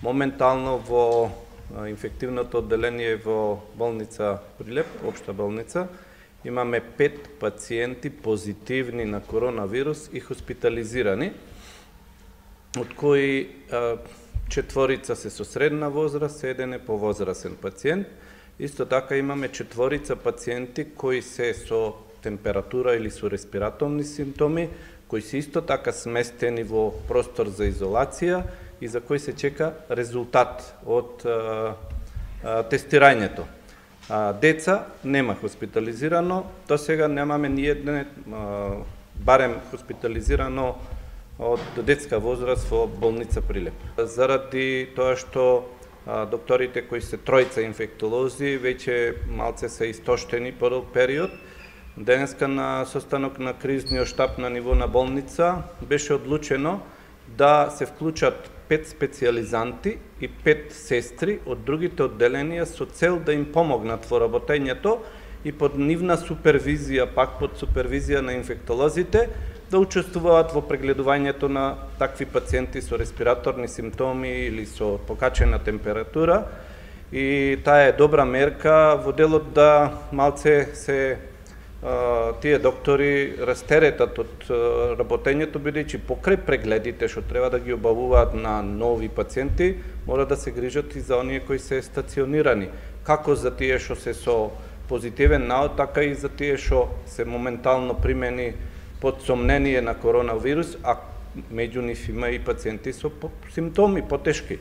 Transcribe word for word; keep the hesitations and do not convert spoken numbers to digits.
Моментално во инфективното одделение во болница Прилеп, општа болница, имаме пет пациенти позитивни на коронавирус и хоспитализирани, од кои четворица се со средна возраст, еден е повозрасен пациент. Исто така имаме четворица пациенти кои се со температура или со респираторни симптоми, кои се исто така сместени во простор за изолација и за кои се чека резултат од а, а, тестирањето. А, деца нема хоспитализирано, до сега немаме ни едне барем хоспитализирано од детска возраст во болница Прилеп. Заради тоа што а, докторите кои се тројца инфектолози веќе малце се истоштени по долг период, денеска на состанок на кризниот штаб на ниво на болница беше одлучено да се вклучат пет специјализанти и пет сестри од другите одделенија со цел да им помогнат во работењето и под нивна супервизија, пак под супервизија на инфектолозите, да учествуваат во прегледувањето на такви пациенти со респираторни симптоми или со покачена температура. И таа е добра мерка во делот да малце се тие доктори растеретат од работењето, бидејќи покрај прегледите што треба да ги обавуваат на нови пациенти, мора да се грижат и за оние кои се стационирани, како за тие што се со позитивен наод, така и за тие што се моментално примени под сомнение на коронавирус, а меѓу нив има и пациенти со симптоми потешки.